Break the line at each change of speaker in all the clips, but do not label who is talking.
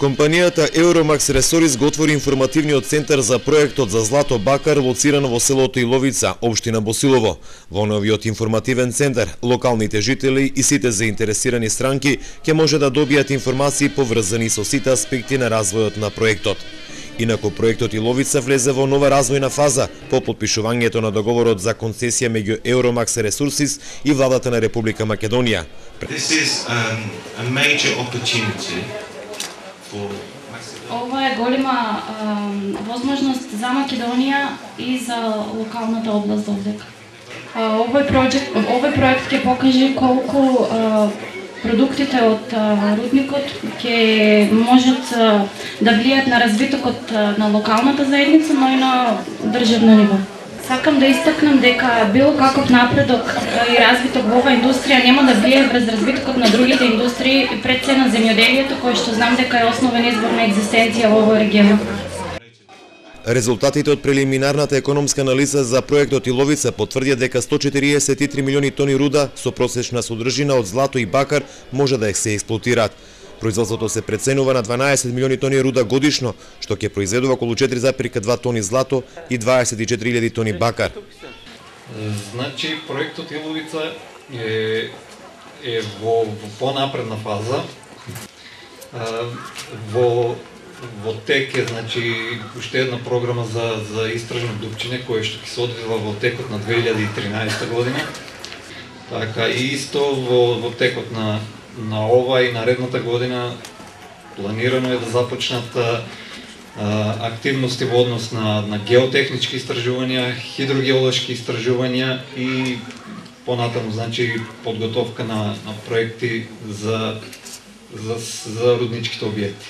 Компанијата Euromax Resources го отвори информативниот центар за проектот за злато бакар лоциран во селото Иловица, општина Босилово. Во новиот информативен центар, локалните жители и сите заинтересирани странки ќе може да добијат информации поврзани со сите аспекти на развојот на проектот. Инаку проектот Иловица влезе во нова развојна фаза по потпишувањето на договорот за концесија меѓу Euromax Resources и владата на Република Македонија.
Ова е голема возможност за Македонија и за локалната област овдека. Овој проект ќе покаже колку продуктите од рудникот ќе можат да влијат на развитокот на локалната заедница, но и на државно ниво. Сакам да истакнам дека било каков напредок и развиток во оваа индустрија нема да влие врз развитокот на другите индустрии, пред се на земјоделието, кој што знам дека е основен извор на екзистенција во овој регион.
Резултатите од прелиминарната економска анализа за проектот Иловица потврдија дека 143 милиони тони руда со просечна содржина од злато и бакар може да се експлоатираат. Производството се преценува на 12 милиони тони руда годишно, што ќе произведува околу 4,2 тони злато и 24.000 тони бакар.
Значи, проектот Иловица е во понапредна фаза. Во тек е, значи, уште една програма за истражно дупчине, која што ќе се одвива во текот на 2013 година. Така, и исто во текот на ова и наредната година планирано е да започнат активности во однос на геотехнички истражувања, хидрогеолошки истражувања и понатаму, значи, подготовка на проекти за рудничките објекти.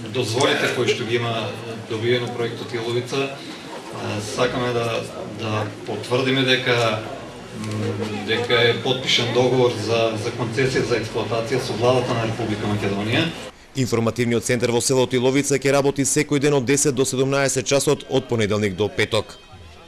Дозволите кои што ги има добиено проектот Иловица, сакаме да потврдиме дека е потпишан договор за концесија за експлоатација со владата на Република Македонија.
Информативниот центар во селото Иловица ќе работи секој ден од 10 до 17 часот од понеделник до петок.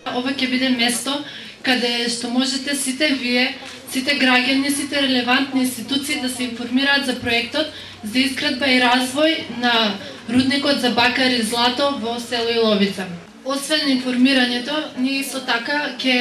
Ова ќе биде место каде што можете сите вие, сите граѓани, сите релевантни институции да се информираат за проектот за изградба и развој на рудникот за бакар и злато во село Иловица. Освен информирањето, ние исто така ќе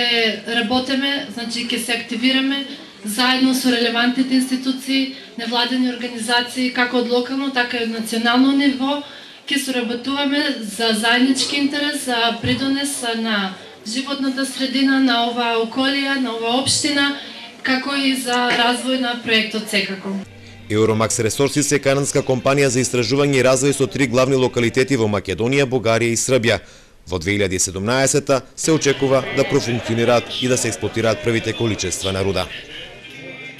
работиме, значи ќе се активираме заедно со релевантните институции, невладени организации, како од локално, така и од национално ниво, ќе соработуваме за заеднички интерес, за придонес на животната средина на оваа околија, на оваа општина, како и за развој на проектот секако.
Euromax Resources е канадска компанија за истражување и развој со 3 главни локалитети во Македонија, Бугарија и Србија. Во 2017 се очекува да профункционираат и да се експлоатираат првите количества на руда.